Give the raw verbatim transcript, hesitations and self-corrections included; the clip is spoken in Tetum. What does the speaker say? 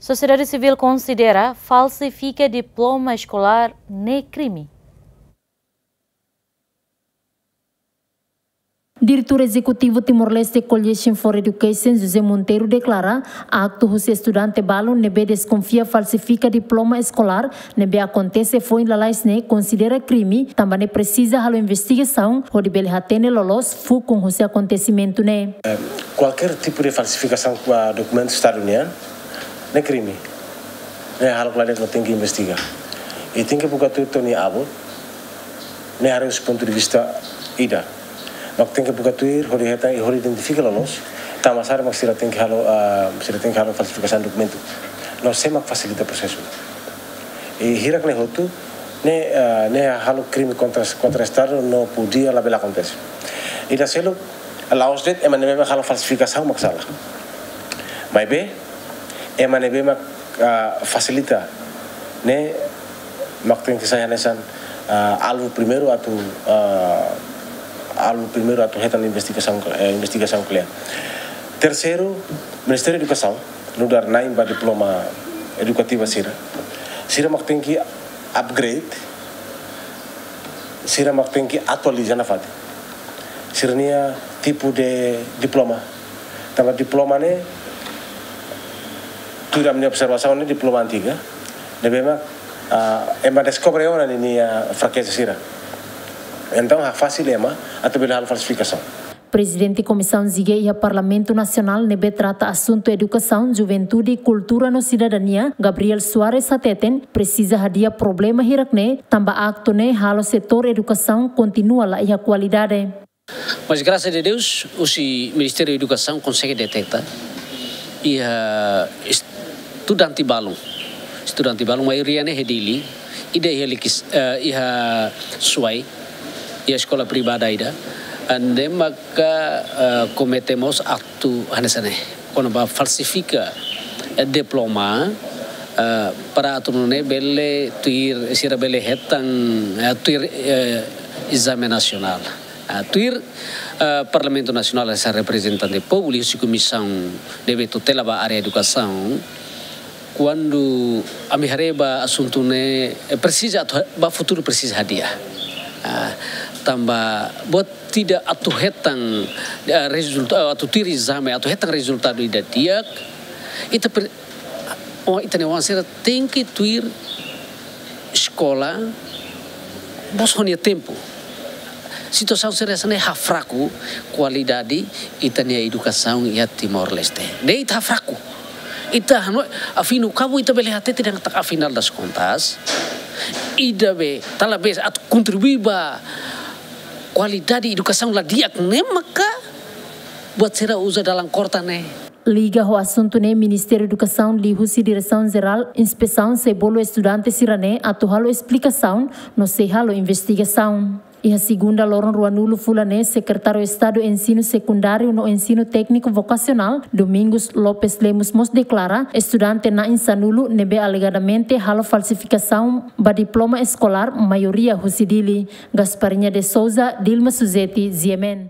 Sosiedade sivíl konsidera falsifika diploma eskolár ne'e krime. Diretór Ezekutivu Timor-Leste Coalition for Education, José Monteiro, deklara aktu husi estudante balun ne'ebé deskonfia falsifika diploma eskolár ne'ebé akontese foin lalais ne'e konsidera krime, tanba ne'e presiza halo investigasaun hodi bele hatene loloos fukun husi akontesimentu ne'e. Kualkér tipu de falsifikasaun ba dokumentu Estadu nian, ne'e krime. Ne'e halo klaru no tenke investiga. I tenke buka tuir to'o nia abut, ne'e haree husi pontu de vista ida. Mak tenke buka tuir hodi hetan i hodi identifika loloos, tanba sá mak sira tenke halo, ah, sira tenke halo falsifikasaun dokumentu. No sé mak fasilita prosesu. I hirak ne'e hotu, ne'e, ah, ne'e halo krime kontra, kontra Estadu no podia labele akontese. Ida seluk, la'ós de'it ema ne'ebé mak halo falsifikasaun mak sala. Maibé, ema ne'ebé mak, ah, fasilita, ne'e mak tenke sai hanesan, ah, alvu primeiru atu, ah, alvu primeiru atu hetan investigasaun, eh, investigasaun kle'an. Terseiru, Ministériu Edukasaun, nu'udar na'in ba diploma edukativa sira, sira mak tenke upgrade, sira mak tenke atualiza nafatin sira-nia tipu de diploma. Tanba diploma ne'e, tuir ami-nia observasaun ne'e diploma antiga, ne'ebé mak, ah, ema deskobre ona ninia frakeza sira. Entaun, hafasil ema atu bele halo falsifikasaun. Prezidente Komisaun Ziga iha Parlamentu Nasionál ne'ebé trata asuntu edukasaun, juventude, kultura no sidadania, Gabriel Soares hateten, presiza hadi'a problema hirak ne'e, tanba aktu ne'e halo setór edukasaun kontinua la iha kualidade. Mas, grasas a Deus, husi Ministériu Edukasaun konsege deteta iha estudante balun. Estudante balun, maioria ne'e iha Dili, ida iha Likis-, eh, iha Suai, iha eskola privada ida, ne'ebé maka, eh, komete mós aktu hanesan ne'e. Kona-ba falsifika, eh, diploma, eh, para atu nune'e bele tuir, sira bele hetan, eh, tuir, eh, ezame nasionál. Ah, tuir, eh, Parlamentu Nasionál, hanesan reprezentante povu liuhusi komisaun ne'ebé tutela ba área edukasaun, kuandu ami haree ba asuntu ne'e, eh, presiza atu ha-, ba futuru presiza hadi'a. Ah, tanba buat ida atu hetan, eh, rezulta-, atu tuir ezame, atu hetan rezultadu ida di'ak, ita pre-, oh, ita-nia oan sira tenke tuir eskola mós ho nia tempu. Situasaun sira hanesan ne'e hafraku kualidade ita-nia edukasaun iha Timor-Leste. Ne'e ita hafraku. Ita hanoin, afinál, kabu ita bele hatete dehan katak afinál das kontas, ida be, talvés atu kontribui ba kualidade edukasaun la di'ak ne'e maka buat sira uza dalan korta ne'e. Liga ho asuntu ne'e, Ministériu Edukasaun liuhusi Diresaun Jerál Inspesaun sei bolu estudante sira-ne'e atu halo esplikasaun no sei halo investigasaun. Iha segunda loron ruanulu fulan ne'e, Sekretáriu Estadu Ensinu Sekundáriu no Ensinu Tékniku Vokasionál, Domingos Lopes Lemos mós deklara, estudante na'in sanulu ne'ebé alegadamente halo falsifikasaun ba diploma eskolár, maioria husi Dili. Gasparinha de Souza, Dilma Suzeti, G M N.